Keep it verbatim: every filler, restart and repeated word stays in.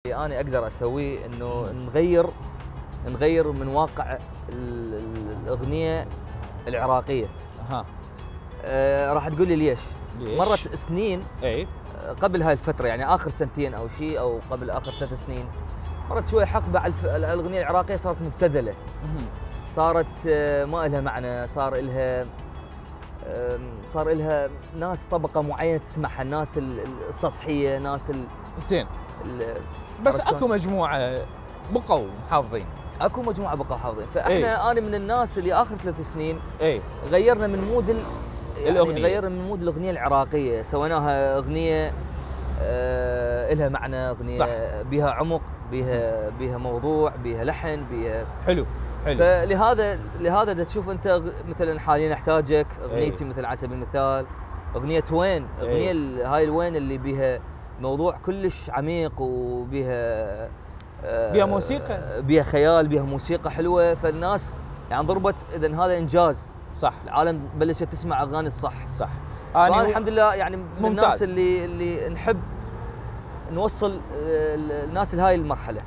اللي انا اقدر اسويه انه نغير نغير من واقع الاغنيه العراقيه. اها أه راح تقول لي ليش؟ ليش؟ مرت سنين اي قبل هاي الفتره، يعني اخر سنتين او شيء، او قبل اخر ثلاث سنين مرت شوي حقبه على الاغنيه العراقيه، صارت مبتذله، صارت ما لها معنى، صار لها صار لها ناس طبقه معينه تسمعها، الناس السطحيه، ناس ال زين. بس اكو مجموعه بقوا محافظين، اكو مجموعه بقوا محافظين، فاحنا ايه؟ انا من الناس اللي اخر ثلاث سنين ايه؟ غيرنا من مود ال... يعني الاغنيه، غيرنا من مود الاغنيه العراقيه، سويناها اغنيه آه لها معنى، اغنيه صح. بها عمق، بها بها موضوع، بها لحن، بها حلو حلو. فلهذا لهذا دا تشوف انت مثلا حاليا احتاجك، اغنيتي ايه؟ مثلا على سبيل المثال اغنيه وين، اغنيه ايه؟ هاي الوين اللي بها موضوع كلش عميق، وبها بها موسيقى، بها خيال، بها موسيقى حلوه، فالناس يعني ضربت، اذا هذا انجاز. صح. العالم بلشت تسمع اغاني الصح. صح. انا الحمد لله يعني من ممتاز. الناس اللي اللي نحب نوصل الناس لهاي المرحله.